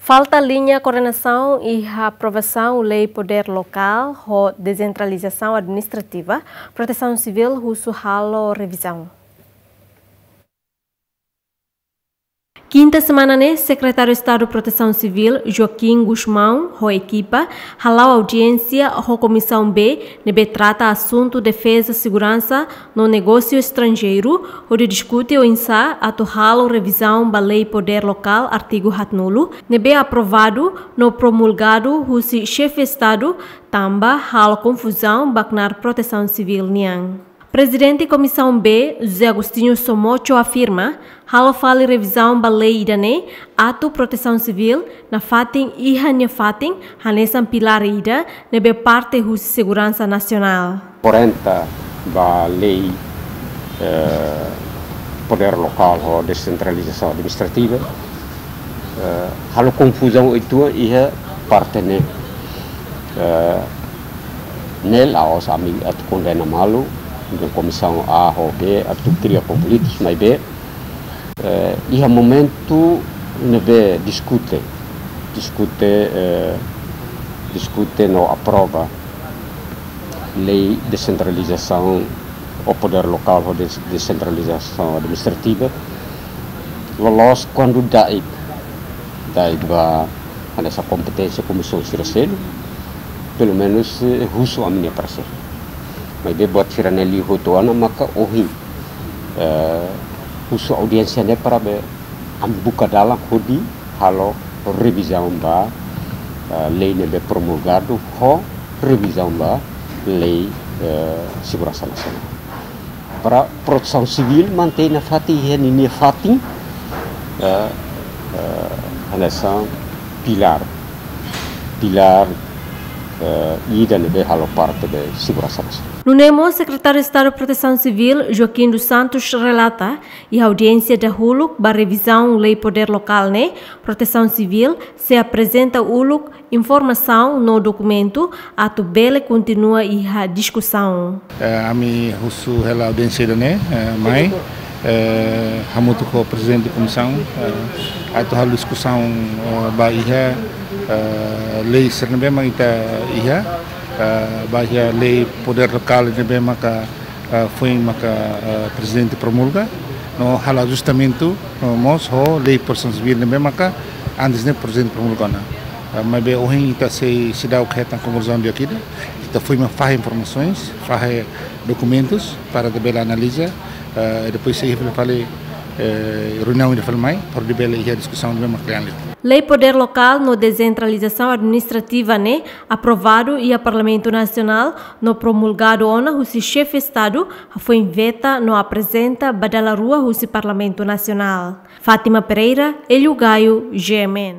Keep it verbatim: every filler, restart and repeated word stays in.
Falta liña koordenasaun iha aprovasaun Lei Podér Lokál ho Desentralizasaun Administrativa, Protesaun Sivíl husu halo revizaun. Kinta semana ne'e, Sekretáriu Estadu Protesaun Sivíl, Joaquim Gusmão, ho ekipa, hala'o audiénsia ho Komisaun B, ne'ebé trata asuntu defeza, seguransa no negósiu estranjeiru, hodi diskute oinsá atu halo revizaun ba Lei Podér Lokál artigu haatnulu, ne'ebé aprovadu no promulgadu husi Xefe Estadu, tanba halo konfuzaun ba knaar Protesaun Sivíl nian. Prezidente Komisaun B, José Agostinho Somocho afirma, halo fali revizaun ba lei ida-ne'e, atu Protesaun Sivíl nafatin iha nia fatin hanesan pilár ida ne'ebé parte husi seguransa nasionál. Kuarenta ba lei, eh, Podér Lokál ho Desentralizasaun Administrativa, eh, halo konfuzaun uitoan iha parte ne'e. Eh, ne'e la'ós ami atu kondena malu, de Komisaun A ho B atu kria konflitus, maibé, eh, iha momentu ne'ebé diskute, diskute, eh, diskute no aprova lei desentralizasaun ou Podér Lokál ho des-, Desentralizasaun Administrativa, loloos kuandu da'et, da'et ba hanesan kompeténsia komisaun sira seluk, pelumenus, eh, husu ami-nia paresér. Maibé buat sira-ne'e liu hotu ona maka ohin, eh, husu audiénsia ne'e para be ami buka dalan hodi halo revizaun ba, eh, lei ne'ebé promulgadu ho revizaun ba lei, eh, seguransa nasionál. Para Protesaun Sivíl mantein nafatin iha ninia fatin, eh, eh, hanesan pilár, pilár, eh, ida ne'ebé halo parte de seguransa nasionál. Nune'e mós, Sekretáriu Estadu Protesaun Sivíl, Joaquim dos Santos, relata, iha audiénsia dahuluk ba revizaun Lei Podér Lokál ne'e, Protesaun Sivíl sei aprezenta uluk informasaun no dokumentu atu bele kontinua iha diskusaun. Eh, ami husu hela audiénsia ida-ne'e, eh, mai, eh, hamutuk ho Prezidente Komisaun, eh, atu halo diskusaun, eh, ba iha, eh, lei sira ne'ebé mak ita iha, eh, ba iha Lei Podér Lokál ne'ebé maka, eh, foin maka, eh, Prezidente promulga, no halo ajustamentu, eh, mós ho Lei Protesaun Sivíl ne'ebé maka antes ne'e Prezidente promulga ona. Eh, maibé ohin ita sei seidauk hetan konkluzionál di'ak ida, ita foin mak fahe informasoens, fahe dokumentus para ita bele analiza, eh, depois sei fali, eh, reuniaun ida fali mai, para ita bele iha diskusaun ne'ebé mak kle'an liu. Lei Podér Lokál no Desentralizasaun Administrativa ne'e aprovadu iha Parlamentu Nasionál no promulgadu ona husi Xefe Estadu, hafoin veta no aprezenta ba dala rua husi Parlamentu Nasionál. Fátima Pereira, Hélio Gaio, G M N.